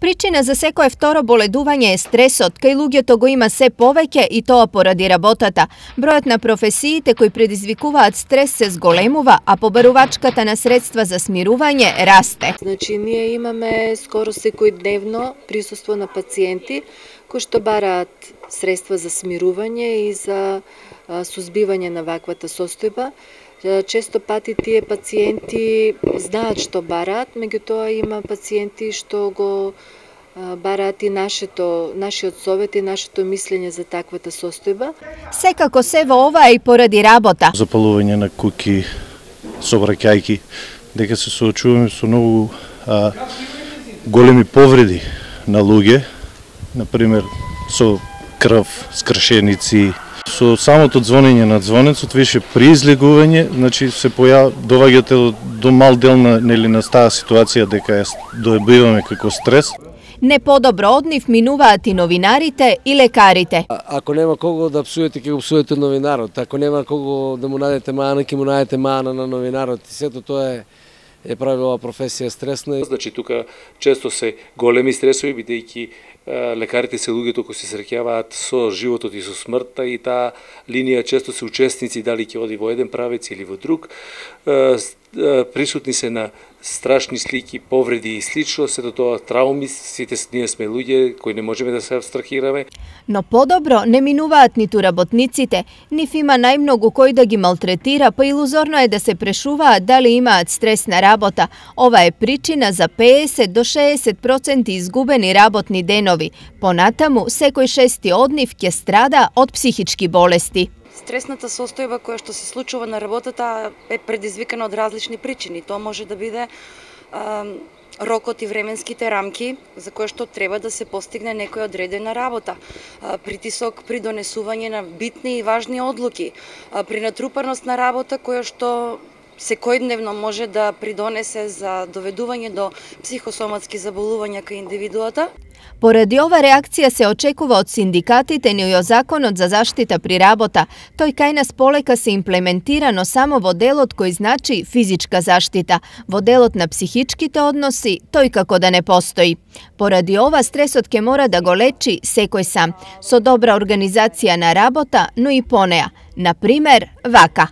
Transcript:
Причина за секое второ боледување е стресот, кај луѓето го има се повеќе и тоа поради работата. Бројот на професиите кои предизвикуваат стрес се зголемува, а побарувачката на средства за смирување расте. Значи, ние имаме скоро секојдневно присуство на пациенти кои што бараат средства за смирување и за сузбивање на ваквата состојба. Често пати тие пациенти знаат што бараат, меѓутоа има пациенти што го бараат и нашиот совет и нашето мислење за таквата состојба. Секако се во ова е и поради работа. Запалување на куки, собраќајки, дека се соочуваме со многу големи повреди на луѓе, например со крв, скршеници. Со самото звонење на звонецот, више при излегување, значи се доваѓате до мал дел на таа ситуација дека ја добиваме како стрес. Не подобро од нив минуваат и новинарите и лекарите. Ако нема кого да псуете, ќе го псуете новинарот. Ако нема кого да му најдете мана, ќе му најдете мана на новинарот. И сето тоа е правила професија стресна. Значи тука често се големи стресови, бидејќи лекарите се луѓето кои се среќаваат со животот и со смртта, и таа линија често се учесници дали ќе оди во еден правец или во друг. Присутни се на страшни слики, повреди и слично, сето тоа трауми, сите ние сме луѓе кои не можеме да се абстрахираме. Но подобро не минуваат ниту работниците, нив има најмногу кој да ги малтретира, па илузорно е да се прешуваат дали имаат стрес на работа. Ова е причина за 50 до 60% изгубени работни денови. Понатаму, секој шести од нив ќе страда од психички болести. Стресната состојба која што се случува на работата е предизвикана од различни причини. Тоа може да биде рокот и временските рамки за кои што треба да се постигне некоја одредена работа, притисок при донесување на битни и важни одлуки, при натрупаност на работа која што секојдневно може да придонесе за доведување до психосоматски заболувања кај индивидуата. Поради ова реакција се очекува од синдикатите, но и од Законот за заштита при работа. Тој кај нас полека се имплементира, но само во делот кој значи физичка заштита. Во делот на психичките односи, тој како да не постои. Поради ова стресот ќе мора да го лечи секој сам, со добра организација на работа, но и по неа. Например, вака.